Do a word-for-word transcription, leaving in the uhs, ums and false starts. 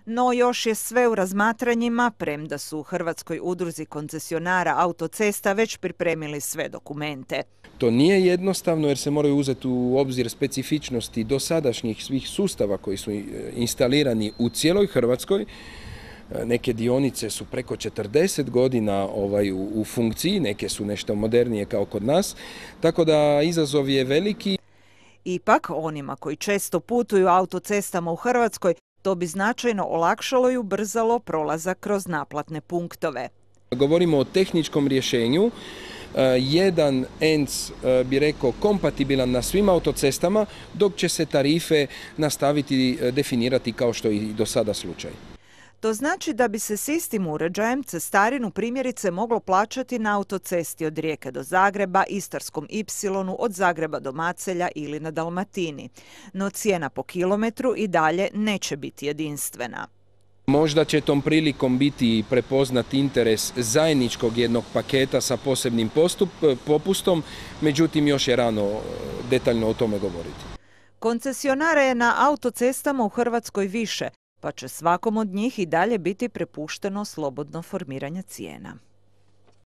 No još je sve u razmatranjima, premda su u Hrvatskoj udruzi koncesionara autocesta već pripremili sve dokumente. To nije jednostavno jer se moraju uzeti u obzir specifičnosti dosadašnjih svih sustava koji su instalirani u cijeloj Hrvatskoj. Neke dionice su preko četrdeset godina ovaj, u, u funkciji, neke su nešto modernije kao kod nas, tako da izazov je veliki. Ipak, onima koji često putuju autocestama u Hrvatskoj, to bi značajno olakšalo i ubrzalo prolazak kroz naplatne punktove. Govorimo o tehničkom rješenju. Jedan E N C bi rekao kompatibilan na svim autocestama, dok će se tarife nastaviti definirati kao što je i do sada slučaj. To znači da bi se s istim uređajem cestarinu primjerice moglo plaćati na autocesti od Rijeke do Zagreba, Istarskom ipsilonu od Zagreba do Macelja ili na Dalmatini. No cijena po kilometru i dalje neće biti jedinstvena. Možda će tom prilikom biti prepoznat interes zajedničkog jednog paketa sa posebnim postup, popustom, međutim još je rano detaljno o tome govoriti. Koncesionara je na autocestama u Hrvatskoj više, pa će svakom od njih i dalje biti prepušteno slobodno formiranje cijena.